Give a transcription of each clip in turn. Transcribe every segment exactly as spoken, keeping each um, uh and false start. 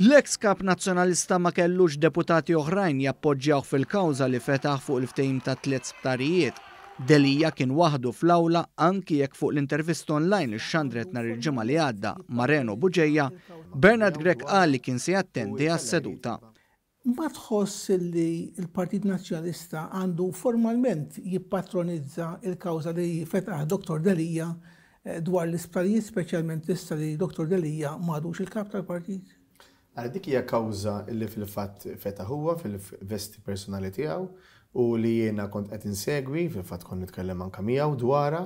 L-eks kap nazzjonalista ma kellux deputati oħrajn jappoġġjawh fil-kawża li fetaħ fuq il-ftehim ta' tliet sptarijiet. Delia kien waħdu fl-awla anki jekk fuq l-intervista online li xandret nhar il-Ġimgħa li għadda ma' Reno Bugeja, Bernard Grech qal li kien se jattendi għas-seduta. Ma tħoss li l-Partit Nazzjonalista għandu formalment jippatronizza il-kawża li fetaħ Dottor Delia dwar l-isptarijiet, speċjalment issa li Dottor Delia m'għadux il-kap tal-partit? Għal dik hija kawża li fil-fatt fetaħ huwa fil-vesti personali tiegħu u li jiena kont qed insegwi, fil-fatt kont nitkellem anke miegħu dwarha,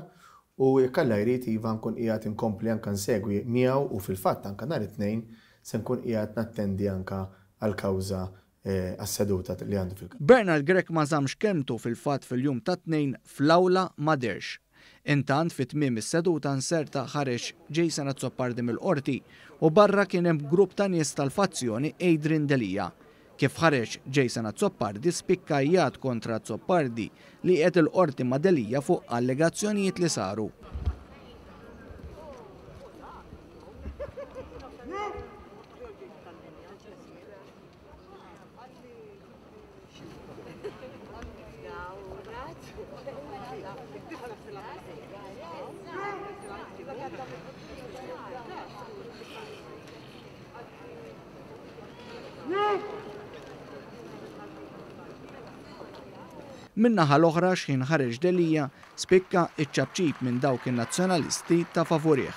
u jekk Alla jrid iva nkun qiegħed inkompli anke nsegwi miegħu u fil-fatt anke nhar it-Tnejn se nkun qiegħed nattendi anke għall-kawża għas-seduta li għandu fil-kawża. Bernard Grech ma żammx kelmtu fil-fatt fil-jum tat-Tnejn fl-awla ma dehrx. Intant fi tmiem is-seduta nserta ħareġ Jason Azzopardi mill-qorti u barra kien hemm grupp ta' nies tal-fazzjoni Adrian Delia. Kif ħareġ Jason Azzopardi spikka jgħad kontra Azzopardi li qiegħed il-qorti ma' Delia fuq allegazzjonijiet li saru. Min-naħa l-oħra x'ħin ħareġ Delia spikka iċ-ċapċip minn dawk in-nazzjonalisti ta' favorih.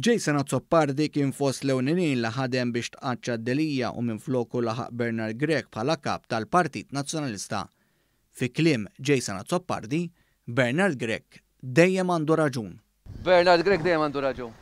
Jason Azzopardi kien fost l-ewlenin li ħadem biex tqaċċa Delia u minfloku laħaq Bernard Grech bħala kap tal-Partit Nazzjonalista. Fi kliem Jason Azzopardi, Bernard Grech dejjem għandu raġun. Bernard Grech dejjem għandu raġun.